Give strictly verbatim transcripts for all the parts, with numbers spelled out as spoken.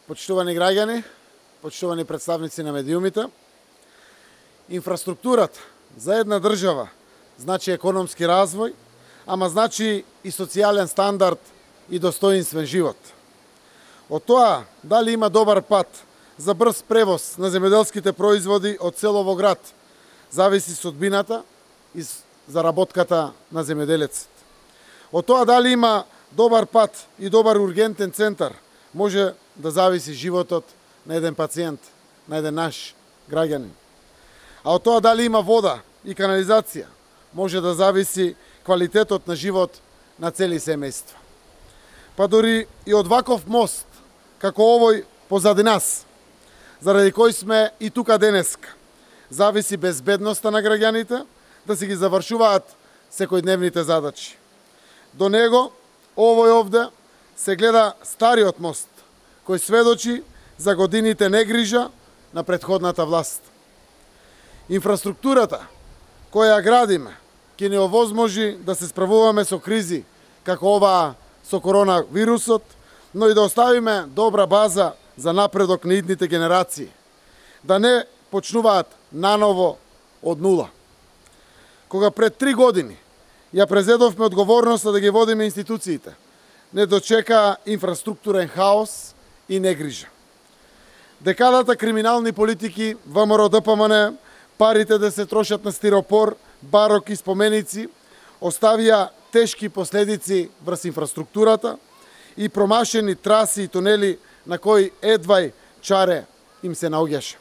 Почитувани граѓани, почитувани представници на медиумите, инфраструктурата за една држава значи економски развој, ама значи и социјален стандард и достоинствен живот. Од тоа, дали има добар пат за брз превоз на земјоделските производи од село во град, зависи судбината и заработката на земјоделецот. Од тоа, дали има добар пат и добар ургентен центар, може да зависи животот на еден пациент, на еден наш граѓанин. А од тоа дали има вода и канализација, може да зависи квалитетот на живот на цели семејства. Па дори и од ваков мост, како овој позади нас, заради кој сме и тука денеска, зависи безбедноста на граѓаните да си ги завршуваат секојдневните задачи. До него, овој овде, се гледа стариот мост, кој сведочи за годините негрижа на претходната власт. Инфраструктурата која ја градиме ќе не овозможи да се справуваме со кризи како оваа со коронавирусот, но и да оставиме добра база за напредок на идните генерации, да не почнуваат наново од нула. Кога пред три години ја презедовме одговорноста да ги водиме институциите, не дочека инфраструктурен хаос и негрижа. Декадата криминални политики ВМРО Д П М Н, парите да се трошат на стиропор, барок и споменици, оставија тешки последици врз инфраструктурата и промашени траси и тунели на кои едвај чаре им се наоѓаше.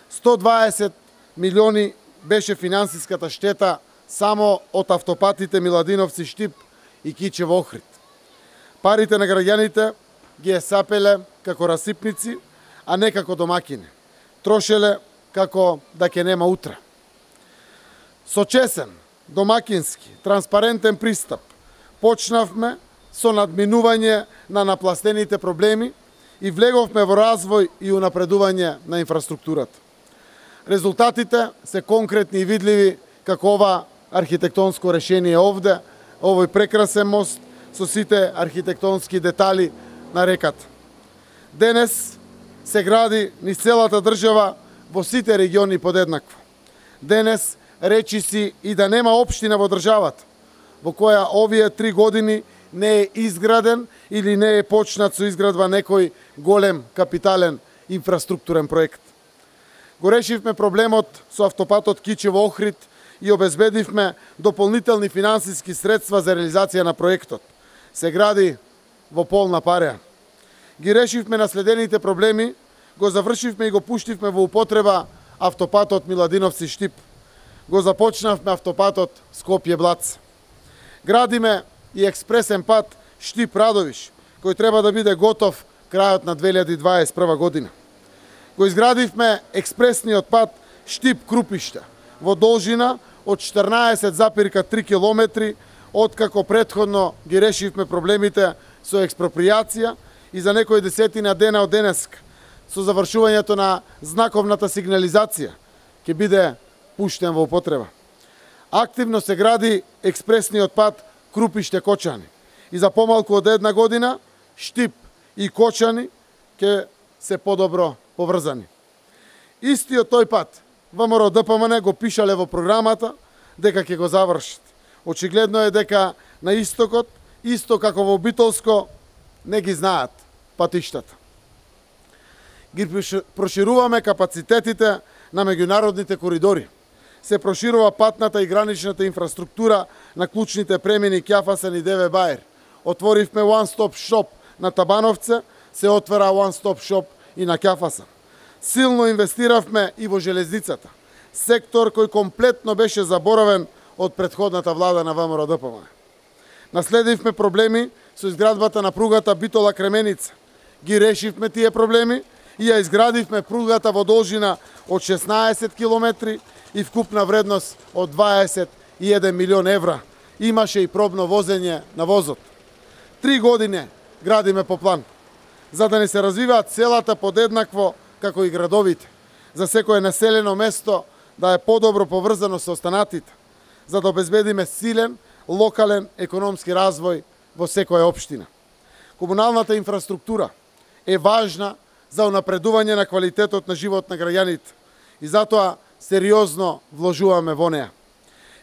сто дваесет милиони беше финансиската штета само од автопатите Миладиновци Штип и Кичево Охрид. Парите на граѓаните ги е сапеле како расипници, а не како домакини. Трошеле како да ќе нема утре. Со чесен, домакински, транспарентен пристап почнавме со надминување на напластените проблеми и влеговме во развој и унапредување на инфраструктурата. Резултатите се конкретни и видливи како ова архитектонско решение овде, овој прекрасен мост со сите архитектонски детали на реката. Денес се гради низ целата држава во сите региони подеднакво. Денес речи си и да нема општина во државата во која овие три години не е изграден или не е почнат со изградба некој голем капитален инфраструктурен проект. Го решивме проблемот со автопатот Кичево Охрид и обезбедивме дополнителни финансиски средства за реализација на проектот. Се гради во полна пареа. Ги решивме наследените проблеми, го завршивме и го пуштивме во употреба автопатот Миладиновци Штип. Го започнавме автопатот Скопје-Блац. Градиме и експресен пат Штип-Радовиш, кој треба да биде готов крајот на две илјади дваесет и прва година. Го изградивме експресниот пат Штип-Крупиште во должина од четрнаесет запирка три километри, откако претходно ги решивме проблемите со експропријација и за некои десетина дена од денеска со завршувањето на знаковната сигнализација ќе биде пуштен во употреба. Активно се гради експресниот пат Крупиште-Кочани и за помалку од една година Штип и Кочани ќе се подобро поврзани. Истиот тој пат ВМРО Д П М Н го пишале во програмата дека ќе го завршат. Очигледно е дека на истокот, исто како во Битолско, не ги знаат патиштата. Ги прошируваме капацитетите на меѓународните коридори. Се проширува патната и граничната инфраструктура на клучните премини Кјафасан и Деве Баер. Отворивме one-stop shop на Табановце, се отвора one-stop shop и на Кјафасан. Силно инвестиравме и во железницата, сектор кој комплетно беше заборавен од претходната влада на ВМРО Д П М Н. Наследивме проблеми со изградбата на пругата Битола-Кременица. Ги решивме тие проблеми и ја изградивме пругата во должина од шеснаесет километри и вкупна вредност од дваесет и еден милион евра. Имаше и пробно возење на возот. Три години градиме по план, за да не се развиваат селата подеднакво како и градовите, за секое населено место да е подобро поврзано со останатите, за да обезбедиме силен, локален економски развој во секоја општина. Комуналната инфраструктура е важна за унапредување на квалитетот на живот на граѓаните и затоа сериозно вложуваме во неа.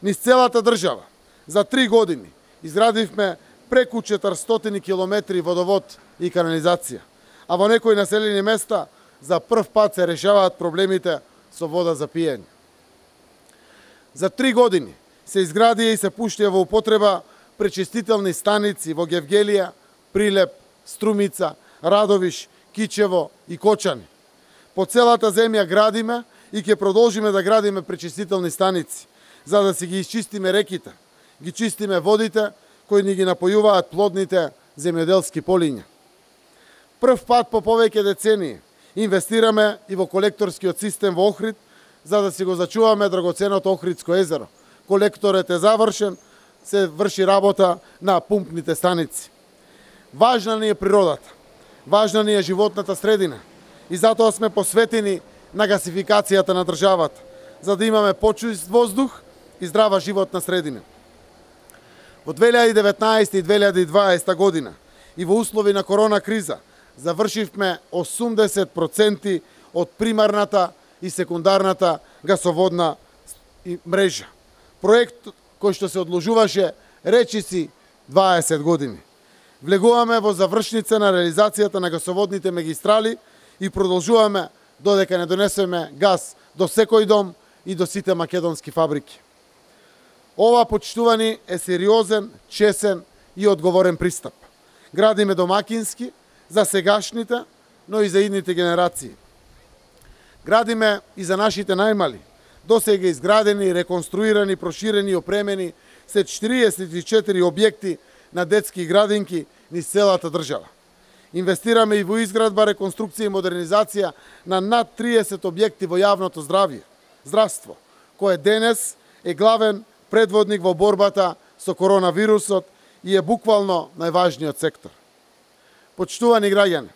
Низ целата држава за три години изградивме преку четиристотини километри водовод и канализација, а во некои населени места за прв пат се решаваат проблемите со вода за пиење. За три години се изградија и се пуштија во употреба пречистителни станици во Гевгелија, Прилеп, Струмица, Радовиш, Кичево и Кочани. По целата земја градиме и ќе продолжиме да градиме пречистителни станици, за да си ги изчистиме реките, ги чистиме водите кои ни ги напојуваат плодните земјоделски полиња. Прв пат по повеќе децении инвестираме и во колекторскиот систем во Охрид, за да си го зачуваме драгоценото Охридско езеро. Колекторот е завршен, се врши работа на пумпните станици. Важна ни е природата, важна ни е животната средина и затоа сме посветени на гасификацијата на државата, за да имаме почист воздух и здрава животна средина. Во две илјади и деветнаесета и две илјади и дваесета година и во услови на корона криза завршивме осумдесет проценти од примарната и секундарната гасоводна мрежа. Проект кој што се одложуваше речиси дваесет години. Влегуваме во завршница на реализацијата на гасоводните магистрали и продолжуваме додека не донесеме газ до секој дом и до сите македонски фабрики. Ова, почитувани, е сериозен, чесен и одговорен пристап. Градиме домакински за сегашните, но и за идните генерации. Градиме и за нашите најмали. Досега изградени, реконструирани, проширени и опремени се четириесет и четири објекти на детски градинки низ целата држава. Инвестираме и во изградба, реконструкција и модернизација на над триесет објекти во јавното здравје, здравство, кој денес е главен предводник во борбата со коронавирусот и е буквално најважниот сектор. Почитувани граѓани,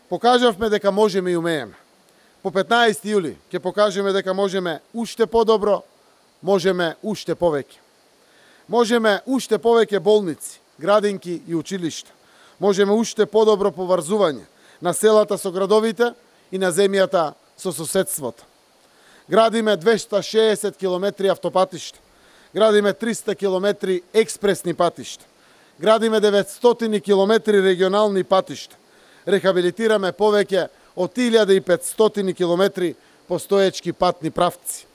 покажавме дека можеме и умееме. По петнаесети јули ќе покажеме дека можеме уште подобро, можеме уште повеќе. Можеме уште повеќе болници, градинки и училишта. Можеме уште подобро поврзување на селата со градовите и на земјата со соседството. Градиме двесте и шеесет километри автопатишта. Градиме триста километри експресни патишта. Градиме деветстотини километри регионални патишта. Рехабилитираме повеќе од илјада и петстотини километри постоечки патни правци.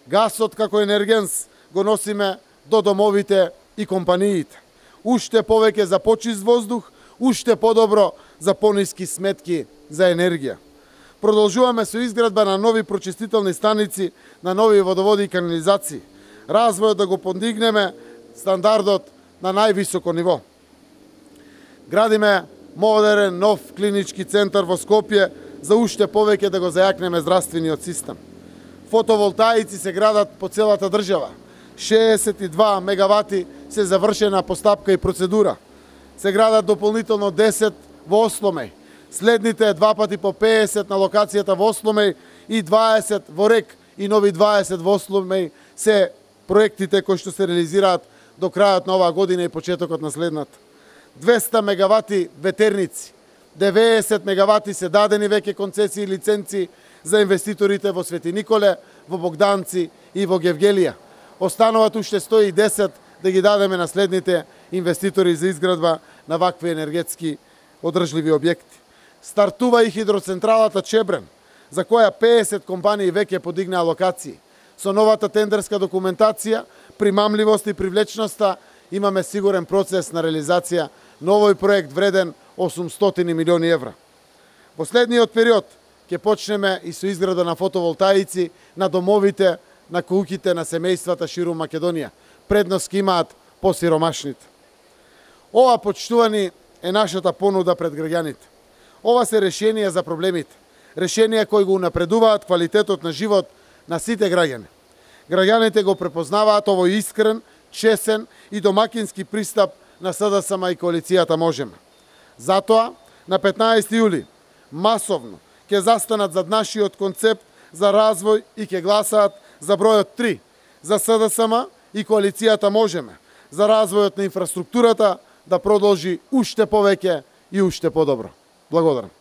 Гасот како енергенс го носиме до домовите и компаниите. Уште повеќе за почист воздух, уште подобро за пониски сметки за енергија. Продолжуваме со изградба на нови прочистителни станици, на нови водоводи и канализации. Развојот да го подигнеме стандардот на највисоко ниво. Градиме модерен, нов клинички центар во Скопје за уште повеќе да го зајакнеме здравствениот систем. Фотоволтаици се градат по целата држава. шеесет и два мегавати се завршена постапка и процедура. Се градат дополнително десет во Осломеј. Следните два пати по педесет на локацијата во Осломеј и дваесет во Рек и нови дваесет во Осломеј се проектите кои што се реализираат до крајот на оваа година и почетокот на следната. двесте мегавати ветерници, деветдесет мегавати се дадени веќе концесии и лиценци за инвеститорите во Свети Николе, во Богданци и во Гевгелија. Остануваат уште сто и десет да ги дадеме на следните инвеститори за изградба на вакви енергетски одржливи објекти. Стартува и хидроцентралата Чебрен, за која педесет компании веќе подигнаа локации. Со новата тендерска документација, примамливост и привлечноста имаме сигурен процес на реализација на овој проект вреден осумстотини милиони евра. Во следниот период ќе почнеме и со изграда на фотоволтаици на домовите, на куќите на семејствата ширум Македонија. Предност ки имаат посиромашните. Ова, почитувани, е нашата понуда пред граѓаните. Ова се решенија за проблемите. Решенија кои го унапредуваат квалитетот на живот на сите граѓани. Граѓаните го препознаваат овој искрен, чесен и домакински пристап на СДСМ и коалицијата Можеме. Затоа, на петнаесети јули, масовно ќе застанат зад нашиот концепт за развој и ќе гласаат за бројот три, за СДСМ и коалицијата Можеме, за развојот на инфраструктурата да продолжи уште повеќе и уште подобро. Благодарам.